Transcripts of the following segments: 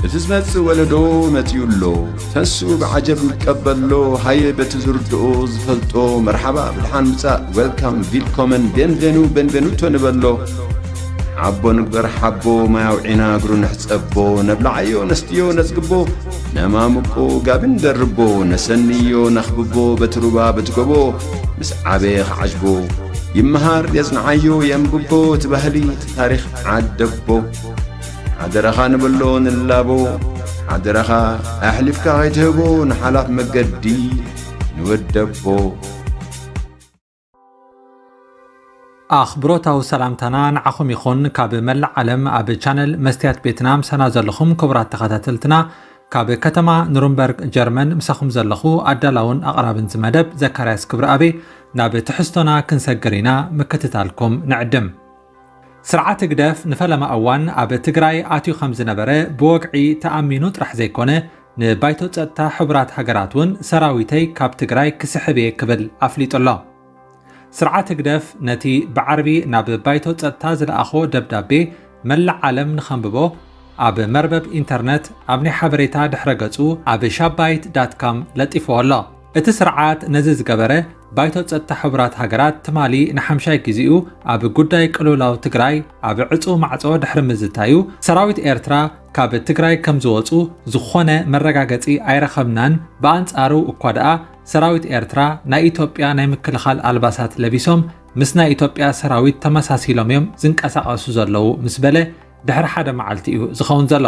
እቲ ዝመጽእ ወለዶ መጺኡ ኣሎ። ተንሱ ብዓጀብ ይቀበሎ። ሃየ በቲ ዝርድኦ ዝፈልጦ መርሓባ ብድሓን ምጻእ፣ ዌልካም፣ ቪልኮመን፣ ቤንቬኑ፣ ቤንቬኑቶ ንበሎ። ሓቦ ንግበር ሓቦ፣ ማይ ኣውዒና እግሩ ንሕጸቦ። ነብልዓዮ ነስትዮ ነጽግቦ፣ ነማምቆ ጋቢ ንደርቦ። ነሰንዮ ነኽብቦ በቲ ሩባ በቲ ጎቦ፣ ምስ ዓበየ ክዓጅቦ። ይመሃር የጽንዓዮ የንብቦ፣ እቲ ባህሊ እቲ ታሪኽ ዓደቦ። ሓደራኻ ንበሎ ንላቦ፣ ሓደራኻ ኣሕሊፍካ ከይትህቦ ንሓላፍ መገዲ ንወደቦ። ኣኽብሮታዊ ሰላምታና ንዓኹም ይኹን። ካብ መላእ ዓለም ኣብ ቻነል መስትያት ቤትና ምሳና ዘለኹም ክቡራት ተኸታተልትና፣ ካብ ከተማ ኑርንበርግ ጀርመን ምሳኹም ዘለኹ ኣዳላውን ኣቕራብን ዝመደብ ዘካርያስ ክብረኣቤ። ናብ ትሕዝቶና ክንሰግር ኢና፣ ምክትታልኩም ንዕድም። ስርዓት ህግደፍ ንፈለማ እዋን ኣብ ትግራይ ኣትዩ ከም ዝነበረ ብወግዒ ተኣሚኑ ጥራሕ ዘይኮነ፣ ንባይቶ ጸጥታ ሕቡራት ሃገራት እውን ሰራዊተይ ካብ ትግራይ ክስሕብ እየ ክብል ኣፍሊጡ ኣሎ። ስርዓት ህግደፍ ነቲ ብዓርቢ ናብ ባይቶ ጸጥታ ዝለኣኾ ደብዳቤ መላእ ዓለም ንኸንብቦ ኣብ መርበብ ኢንተርነት ኣብ ናይ ሓበሬታ ድሕረ ገጹ ኣብ ሻባይት ዳት ካም ለጢፍዎ ኣሎ። እቲ ስርዓት ነዚ ዝገበረ፣ ባይቶ ጸጥታ ሕቡራት ሃገራት ትማሊ ንሓምሻይ ግዜኡ ኣብ ጉዳይ ቅልውላው ትግራይ ኣብ ዕጹው ማዕጾ ድሕሪ ምዝታዩ፣ ሰራዊት ኤርትራ ካብ ትግራይ ከም ዝወጹ ዝኾነ መረጋገጺ ኣይረኸብናን። ብኣንጻሩ እኳ ደኣ ሰራዊት ኤርትራ ናይ ኢትዮጵያ ናይ ምክልኻል ኣልባሳት ለቢሶም ምስ ናይ ኢትዮጵያ ሰራዊት ተመሳሲሎም እዮም ዝንቀሳቐሱ ዘለዉ ምስ በለ ድሕሪ ሓደ መዓልቲ እዩ ዝኸውን ዘሎ።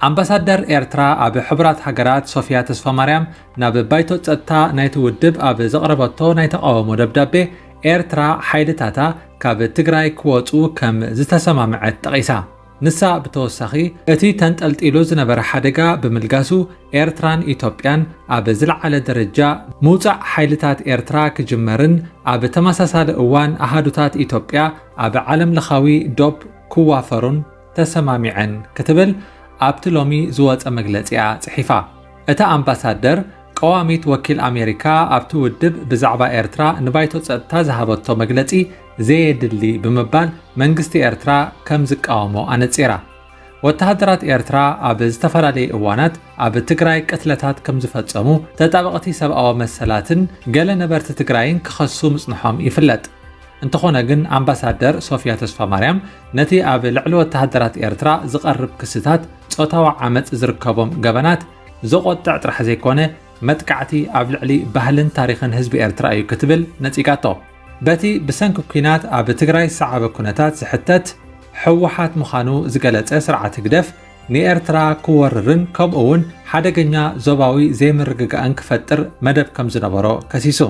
ኣምባሳደር ኤርትራ ኣብ ሕቡራት ሃገራት ሶፊያ ተስፋማርያም ናብ ባይቶ ጸጥታ ናይቲ ውድብ ኣብ ዘቕረበቶ ናይ ተቓውሞ ደብዳቤ፣ ኤርትራ ሓይልታታ ካብ ትግራይ ክወጹ ከም ዝተሰማምዐት ጠቒሳ። ንሳ ብተወሳኺ፣ እቲ ተንጠልጢሉ ዝነበረ ሓደጋ ብምልጋሱ፣ ኤርትራን ኢትዮጵያን ኣብ ዝለዓለ ደረጃ ምውጻእ ሓይልታት ኤርትራ ክጅመርን ኣብ ተመሳሳሊ እዋን ኣሃዱታት ኢትዮጵያ ኣብ ዓለም ለኻዊ ዶብ ክዋፈሩን ተሰማሚዐን ክትብል ኣብቲ ሎሚ ዝወጸ መግለጺኣ ጽሒፋ። እታ ኣምባሳደር፣ ቀዋሚት ወኪል ኣሜሪካ ኣብቲ ውድብ ብዛዕባ ኤርትራ ንባይቶ ጸጥታ ዝሃበቶ መግለጺ ዘየድሊ ብምባል መንግስቲ ኤርትራ ከም ዝቃወሞ ኣነጺራ። ወተሃደራት ኤርትራ ኣብ ዝተፈላለየ እዋናት ኣብ ትግራይ ቅትለታት ከም ዝፈጸሙ፣ ተጣበቕቲ ሰብኣዊ መሰላትን ገለ ነበርቲ ትግራይን ክኸሱ ምጽንሖም ይፍለጥ። እንተኾነ ግን ኣምባሳደር ሶፊያ ተስፋማርያም ነቲ ኣብ ልዕሊ ወተሃደራት ኤርትራ ዝቐርብ ክስታት ጾታዊ ዓመጽ ዝርከቦም ገበናት ዘቖጥዕ ጥራሕ ዘይኮነ፣ መጥቃዕቲ ኣብ ልዕሊ ባህልን ታሪኽን ህዝቢ ኤርትራ እዩ ክትብል ነጺጋቶ። በቲ ብሰንኪ ኲናት ኣብ ትግራይ ዝሰዓበ ኩነታት ዝሕተት ህወሓት ምዃኑ ዝገለጸ ስርዓት ህግደፍ፣ ንኤርትራ ክወርርን ከምኡ እውን ሓደገኛ ዞባዊ ዘይምርግጋእን ክፈጥር መደብ ከም ዝነበሮ ከሲሱ።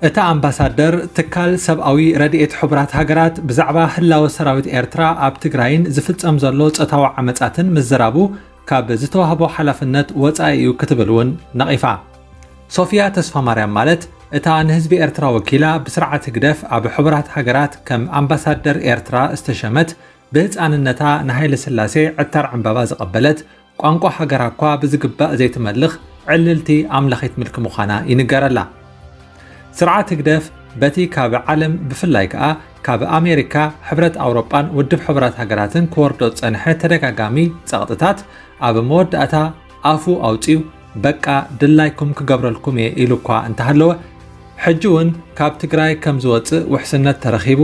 እታ ኣምባሳደር፣ ትካል ሰብኣዊ ረድኤት ሕቡራት ሃገራት ብዛዕባ ህላወ ሰራዊት ኤርትራ ኣብ ትግራይን ዝፍጸም ዘሎ ጾታዊ ዓመጻትን ምዝራቡ ካብ ዝተዋህቦ ሓላፍነት ወጻኢ እዩ ክትብል እውን ነቒፋ። ሶፊያ ተስፋማርያም ማለት እታ ንህዝቢ ኤርትራ ወኪላ ብስርዓት ህግደፍ ኣብ ሕቡራት ሃገራት ከም ኣምባሳደር ኤርትራ ዝተሸመት፣ ብህጻንነታ ንሃይለ ስላሴ ዕታር ዕምባባ ዝቐበለት፣ ቋንቋ ሃገራ እኳ ብዝግባእ ዘይትመልኽ ዕልልቲ ኣምላኺት ምልኪ ምዃና ይንገረላ። ስርዓት ህግደፍ በቲ ካብ ዓለም ብፍላይ ከኣ ካብ ኣሜሪካ፣ ሕብረት ኣውሮጳን ውድብ ሕቡራት ሃገራትን ክወርዶ ዝጸንሐ ተደጋጋሚ ጸቕጥታት ኣብ መወዳእታ ኣፉ ኣውጺኡ በቃ ድላይኩም ክገብረልኩም እየ ኢሉ እኳ እንተሃለወ፣ ሕጂ እውን ካብ ትግራይ ከም ዝወጽእ ውሕስነት ተረኺቡ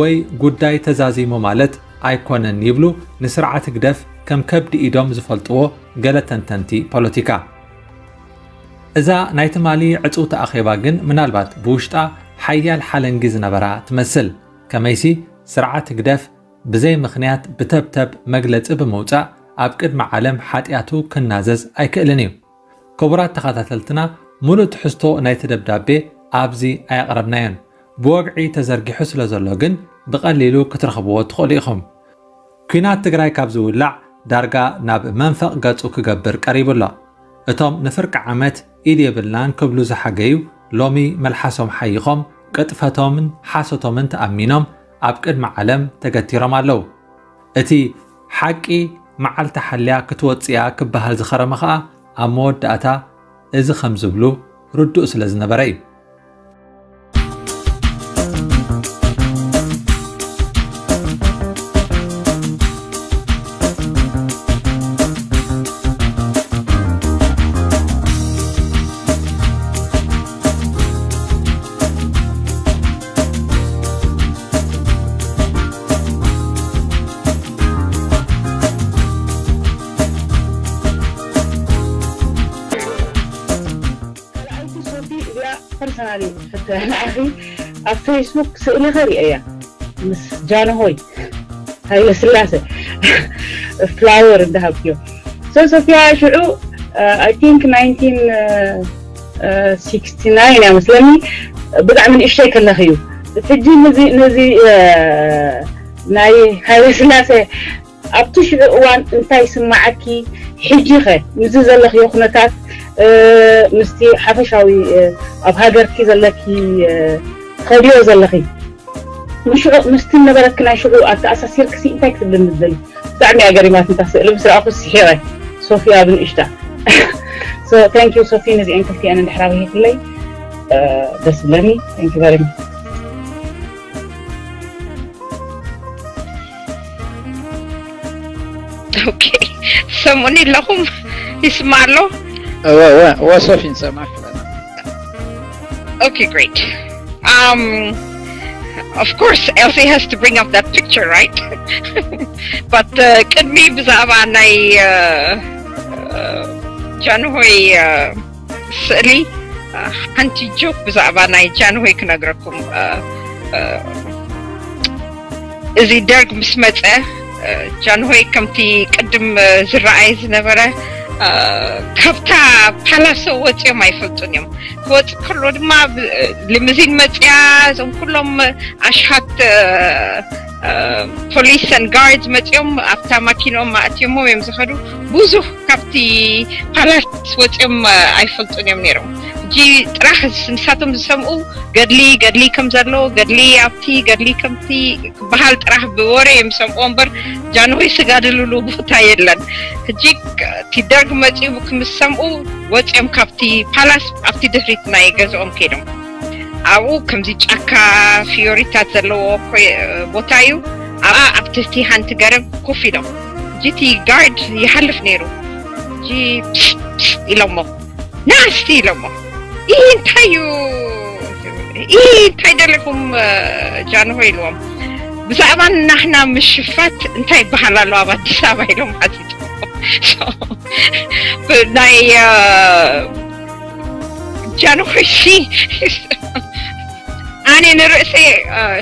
ወይ ጉዳይ ተዛዚሙ ማለት ኣይኮነን ይብሉ ንስርዓት ህግደፍ ከም ከብዲ ኢዶም ዝፈልጥዎ ገለ ተንተንቲ ፖለቲካ። እዛ ናይ ትማሊ ዕጽውቲ ኣኼባ ግን ምናልባት ብውሽጣ ሓያል ሓለንጊ ዝነበራ ትመስል። ከመይሲ ስርዓት ህግደፍ ብዘይ ምኽንያት ብተብተብ መግለጺ ብምውጻእ ኣብ ቅድሚ ዓለም ሓጢኣቱ ክናዘዝ ኣይክእልን እዩ። ክቡራት ተኸታተልትና፣ ሙሉእ ትሕዝቶ ናይቲ ደብዳቤ ኣብዚ ኣየቕረብናዮን። ብወግዒ ተዘርጊሑ ስለ ዘሎ ግን ብቐሊሉ ክትረኽብዎ ትኽእሉ ኢኹም። ኲናት ትግራይ ካብ ዝውላዕ ዳርጋ ናብ መንፈቕ ገጹ ክገብር ቀሪቡ ኣሎ። እቶም ንፍርቂ ዓመት ኢድ የብልናን ክብሉ ዝሓገዩ ሎሚ መልሓሶም ሓይኾም ቅጥፈቶምን ሓሶቶምን ተኣሚኖም ኣብ ቅድሚ ዓለም ተገቲሮም ኣለዉ። እቲ ሓቂ መዓልቲ ሓልያ ክትወጽእ እያ ክበሃል ዝኸረመ ኸኣ ኣብ መወዳእታ እዚ ከም ዝብሉ ርዱእ ስለ ዝነበረ እዩ። ንዓኺ ኣብ ፌስቡክ ስእሊ ኸርእያ ምስ ጃንሆይ ሃይለ ስላሴ ፍላወር እንዳሃብክዮ። So ሶፊያ ሽዑ I think nineteen sixty nine እያ መስለኒ፣ ብጣዕሚ ንእሽተይ ከለኺ እዩ። ሕጂ ነዚ ነዚ ናይ ሃይለ ስላሴ ኣብቲ ሽዑ እዋን እንታይ ስማዓኪ? ሕጂ ኸ ምስዚ ዘለኽዮ ኩነታት ምስቲ ሓፈሻዊ ኣብ ሃገርኪ ዘለኪ ትኸድዮ ዘለኺ፣ ንሽዑ ምስቲ ነበረኪ ናይ ሽዑ ኣተኣሳሲርክሲ እንታይ ክትብልኒ ትደሊ? ብጣዕሚ እያ ገሪማትኒ እታ ስእሊ፣ ምስ ረኣኹ ስሒቐ። ሶፊያ ብንእሽታ። So thank you ሶፊ፣ ነዚአን ክልቲአን እንድሕር ኣብሂክለይ ደስ ብለኒ። Thank you very much። Okay. ሰሙኒ ኣለኹም? ይስማዕ ኣሎ? እወ እወ እወ ሶፊ ንሰማዕኪ ኣለና። Okay, great. Um, of course, Elsie has to bring up that picture, right? But uh, ቅድሚ ብዛዕባ ናይ uh, uh, ጃንሆይ uh, ስእሊ uh, ሓንቲ ጆክ ብዛዕባ ናይ ጃንሆይ ክነግረኩም። Uh, uh, እዚ ደርግ ምስ መፀ uh, ጃንሆይ ከምቲ ቅድም uh, ዝረኣየ ዝነበረ uh, ካብታ ፓላሶ ወፂኦም ኣይፈልጡን እዮም። ክወፅእ ከሎ ድማ ሊምዚን መፅያ፣ እዞም ኩሎም ኣሽሃት ፖሊስን ጋርድ መፅኦም ኣብታ ማኪኖም ኣእትዮሞም እዮም ዝኸዱ። ብዙሕ ካብቲ ፓላስ ወፅኦም ኣይፈልጡን እዮም ነይሮም። ሕጂ ጥራሕ ንሳቶም ዝሰምኡ ገድሊ ገድሊ ከም ዘሎ፣ ገድሊ ኣብቲ ገድሊ ከምቲ ክበሃል ጥራሕ ብወረ እዮም ዝሰምኡ እምበር ጃንሆይ ዝጋደልሉ ቦታ የለን። ሕጂ እቲ ደርግ መፂኡ ክምሰምኡ ወፂኦም ካብቲ ፓላስ ኣብቲ ድሕሪት ናይ ገዝኦም ከይዶም። ኣብኡ ከምዚ ጫካ ፍዮሪታት ዘለዎ ቦታ እዩ። ኣብኣ ኣብ ትሕቲ ሓንቲ ገረብ ኮፍ ኢሎም፣ ሕጂ እቲ ጋርድ ይሓልፍ ነይሩ። ሕጂ ኢሎሞ፣ ናስቲ ኢሎሞ፣ ይህ እንታይ እዩ? ይህ እንታይ ደለኹም? ጃንሆ ኢልዎም፣ ብዛዕባ ናህና ምሽፋት እንታይ ይበሃል ኣሎ ኣብ ኣዲስ ኣበባ ኢሎም ሓቲቶም። ናይ ጃንሆይ ሲ ኣነ ንርእሰይ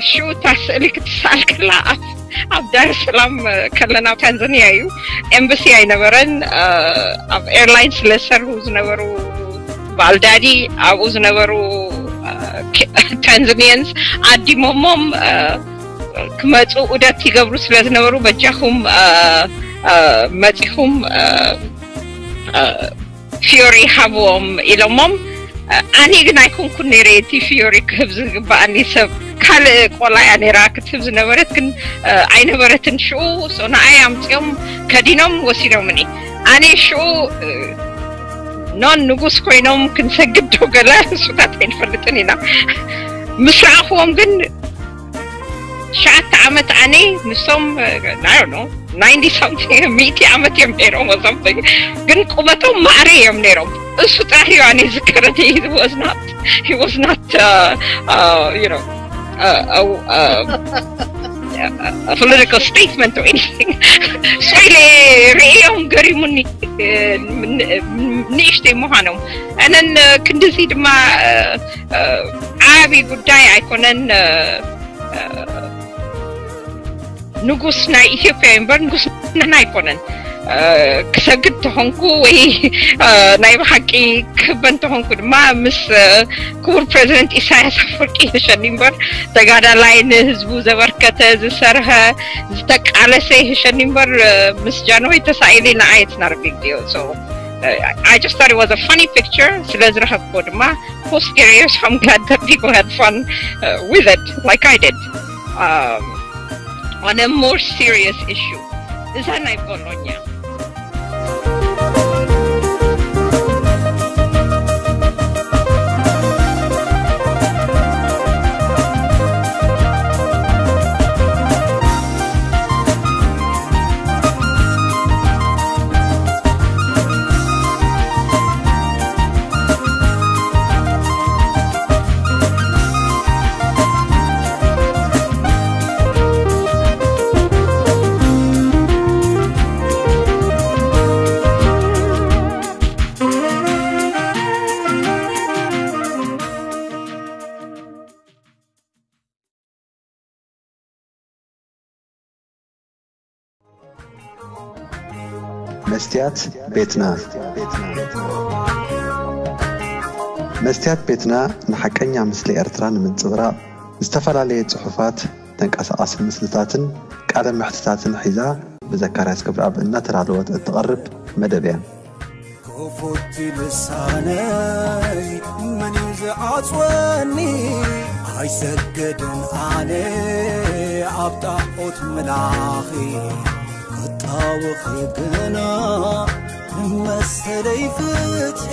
ሽኡ እታ ስእሊ ክትሰኣል ከላ ኣብ ዳር ሰላም ከለና ታንዛኒያ እዩ። ኤምባሲ ኣይነበረን። ኣብ ኤርላይን ስለ ዝሰርሁ ዝነበሩ በዓል ዳዲ ኣብኡ ዝነበሩ ታንዛኒያንስ ዓዲሞሞም ክመፁ ዑደት ይገብሩ ስለ ዝነበሩ በጃኹም መፂኹም ፊዮሪ ሃብዎም ኢሎሞም። ኣነ ግን ኣይኮንኩን ነይረ እቲ ፊዮሪ ክህብ ዝግበኣኒ ሰብ፣ ካልእ ቆልዓ እያ ነይራ ክትህብ ዝነበረት፣ ግን ኣይነበረትን ሽኡ። ንዓይ ኣምፂኦም ከዲኖም ወሲዶምኒ። ኣነ ሽኡ ኖን ንጉስ ኮይኖም ክንሰግድ ዶ ገለ እሱታት ኣይንፈልጥን ኢና። ምስ ረኣኽዎም ግን ትሽዓተ ዓመት ኣነ ንሶም ናዮ ነው ናይንቲ ሳምቲንግ ሚእቲ ዓመት እዮም ነይሮም ወሰምቲንግ፣ ግን ቁመቶም ማዕረ እዮም ነይሮም። እሱ ጥራሕ እዩ ኣነ ዝከረኒ። He was not he was not uh, uh, you know uh, uh, uh, a political statement or anything. So ኢለ ርእዮም ገሪሙኒ ንእሽተይ ምዃኖም። And then ክንድዚ ድማ ዓቢ ጉዳይ ኣይኮነን። ንጉስ ናይ ኢትዮጵያ እምበር ንጉስ ናህና ኣይኮነን። ክሰግድ ተኾንኩ ወይ ናይ ብሓቂ ክህበን ተኾንኩ ድማ ምስ ክቡር ፕሬዚደንት ኢሳያስ ኣፈወርቂ ይህሸኒ እምበር፣ ተጋዳላይ፣ ንህዝቡ ዘበርከተ፣ ዝሰርሐ፣ ዝተቃለሰ ይህሸኒ እምበር ምስ ጃንሆይ ተሳኢለ ንዓይ it's not a big deal. So I just thought it was a funny picture. ስለ ዝረኸብኩዎ ድማ ፖስት ገይረዮ። So I'm glad that people had fun uh, with it like I did. Um, on a more serious issue, እዛ ናይ ቦሎኛ መስትያት ቤትና። መስትያት ቤትና ንሓቀኛ ምስሊ ኤርትራ ንምንጽብራቕ ዝተፈላለየ ጽሑፋት፣ ተንቀሳቓሲ ምስልታትን ቃለ መሕትታትን ሒዛ ብዘካርያስ ክብረኣብ እናተዳለወት እትቐርብ መደብ እያ። ክፉት ልሳነይ መን እዩ ዝዓጽወኒ? ኣይሰገድን ኣነ ኣብ ጣዖት ምላኺ ክጣወኺ ግና ንመሰለይ ፍትሒ